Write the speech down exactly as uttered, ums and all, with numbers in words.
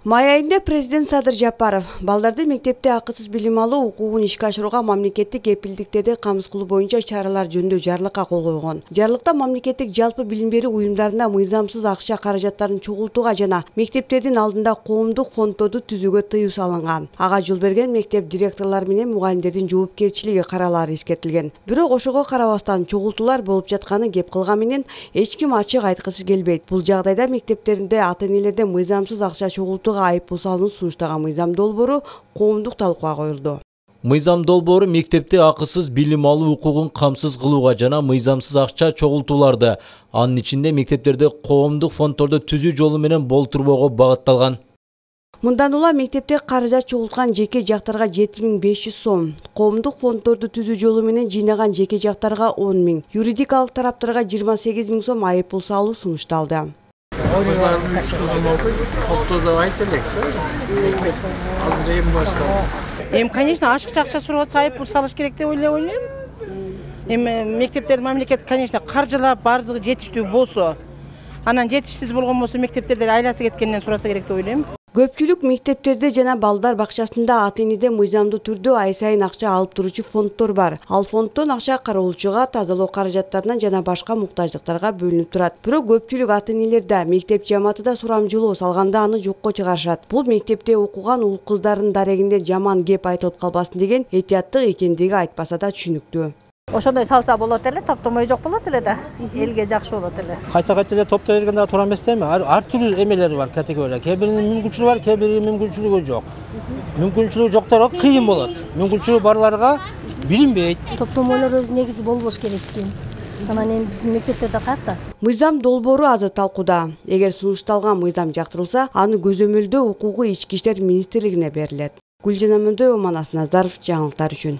Май айында президент Садыр Жапаров балдарды мектепте акысыз билим алуу укугун ишке ашырууга мамлекеттик кепилдиктерди камсыз кылуу боюнча чаралар жөнүндө жарлыкка кол койгон. Жарлыкта мамлекеттик жалпы билим берүү уюмдарында мыйзамсыз акча каражаттарын чогултууга жана мектептердин алдында коомдук фонддорду түзүүгө тыюу салынган. Ага жол берген мектеп директорлору менен мугалимдердин жоопкерчилиги каралаары эскертилген. Бирок ошого карабастан чогултуулар болуп жатканы кеп кылган менен эч ким ачык айткысы келбейт. Бул жагдайда мектептеринде ата-энелерден мыйзамсыз акча чогултууга айыппул салынып сунуштаган мыйзам долбоору коомдук талкууга коюлду. Мыйзам долбоору мектепте акысыз билим алуу укугун камсыз кылууга жана мыйзамсыз акча чогултууларды, анын ичинде мектептерде коомдук фонддорду түзүү жолу менен болтурбоого багытталган. Мындан улам мектепте каражат чогулткан жеке жактарга жети миң беш жүз сом, коомдук фонддорду түзүү жолу менен жыйнаган жеке жактарга он миң, юридикалык тараптарга жыйырма сегиз миң сом айыппул салуу сунушталды. Кызлардын үч кызым окуйт, топтоодо айта элек да. Азыр эми башталды. Эми, конечно, ашыкча акча сурап атса айыппул салыш керек деп ойлойм. Эми мектептерди мамлекет, конечно, каржылап бардыгы жетиштүү болсо, анан жетишсиз болгон болсо мектептерде айласы кеткенден сураса керек деп ойлойм. Көпчүлүк мектептерде жана балдар бакчасында ата-энеден мыйзамдуу түрдө ай сайын акча алып туручу фонддор бар. Ал фонддон акча кароолчуга, тазалоо каражаттарына жана башка муктаждыктарга бөлүнүп турат. Бирок көпчүлүк ата-энелер да, мектеп жамааты да сурамжылоо салганда аны жокко чыгарышат. Бул мектепте окуган уул кыздардын дарегинде жаман кеп айтылып калбасын деген этияттык экендиги айтпаса да түшүнүктүү. Ошондой салса болот эле, топтомой жок болот эле да. Элге жакшы болот эле. Кайта-кайта эле топтой бергенде туура эмес дейм. Ар түрдүү эмелери бар, категория. Кээ биринин мүмкүнчүлүгү бар, кээ биринин мүмкүнчүлүгү жок. Мүмкүнчүлүгү жокторго кыйын болот. Мүмкүнчүлүгү барларга билинбейт. Топтомойлор өз негизи болбош керек экен. Анан эми биздин мектептерде каякта? Мыйзам долбоору азыр талкууда. Эгер сунушталган мыйзам жактырылса, аны көзөмөлдөө укугу Ички иштер министрлигине берилет. Гүлжан Амандоева, Манас Назаров, жаңылыктар үчүн.